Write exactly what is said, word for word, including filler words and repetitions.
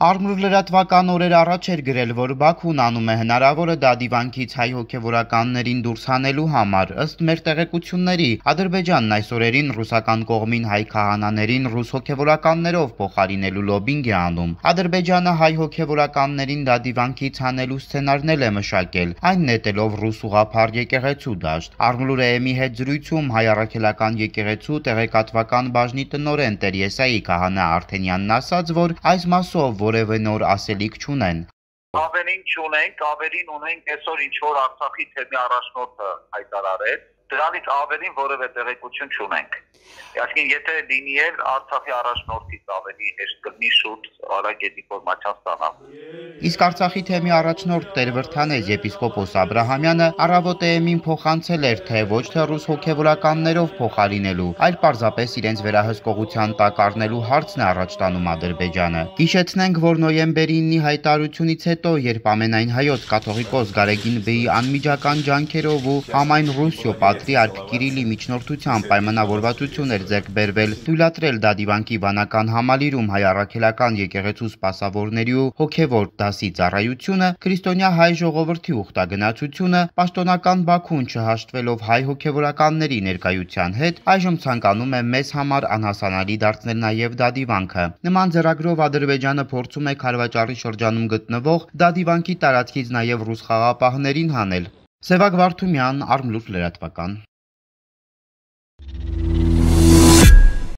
Արմուր լրատվական օրեր առաջ էր գրել, որ Բաքուն անում է հնարավորը դադիվանքից հայ հոգևորականներին դուրս հանելու համար։ Ըստ մեր տեղեկությունների, Ադրբեջանն այս օրերին ռուսական կողմին հայ քահանաներին ռուս հոգևորականներով փոխարինելու լոբինգ է անում։ Ադրբեջանը հայ հոգևորականներին դադիվանքից հանելու սցենարն էլ է մշակել, այն նետելով ռուս ուղղափառ եկեղեցու դաշտ։ Արմուր էեմի հետ զրույցում հայ առաքելական եկեղեցու տեղեկատվական բաժնի տնօրեն Տեր Եսայի քահանա Արթենյանն ասաց, որ այս մասով որևէ նոր ասելիք չունեն։ Ավերին չունենք, ավերին ունենք այսօր ինչ որ Արցախի թեմի առաջնորդը հայտարարեց, դրանից ավերին որևէ տեղեկություն չունենք։ Այսինքն եթե լինի էլ Արցախի առաջնորդից ավելի հեշտ կլինի շուտ արագ ինֆորմացիա ստանալ։ Իսկ Արցախի թեմի առաջնորդ Տեր Վրդանեզ եպիսկոպոս Աբրահամյանը առավոտ էեմին փոխանցել էր, թե ոչ թե ռուս հոգևորականներով փոխարինելու, այլ պարզապես իրենց վերահսկողության տակ առնելու հարցն է առաջ տանում Ադրբեջանը։ Հիշեցնենք, որ նոյեմբերի ինի հայտարարությունից հետո, երբ ամենայն հայոց կաթողիկոս Գարեգին Բեի անմիջական ջանքերով ու համայն Ռուսիո պատրիարք Կիրիլի միջնորդությամբ պայմանավորվածություն էր ձեռք բերվել թույլատրել դադիվանքի վանական համալիրում հայ առաքելական եկեղեցու սպասավորների ու հոգևոր դասի ծառայությունը, քրիստոնյա հայ ժողովրդի ուխտագնացությունը, պաշտոնական Բաքուն չհաշտվելով հայ հոգևորականների ներկայության հետ, այժմ ցանկանում է մեզ համար անհասանալի դարձնել նաև դադիվանքը։ Նման ձեռագրով Ադրբեջանը փորձում է Քարվաճառի շրջանում գտնվող դադիվանքի տարածքից նաև ռուս խաղապահներին հանել։ Սևակ Վարդումյան, Արմլուր լրատվական։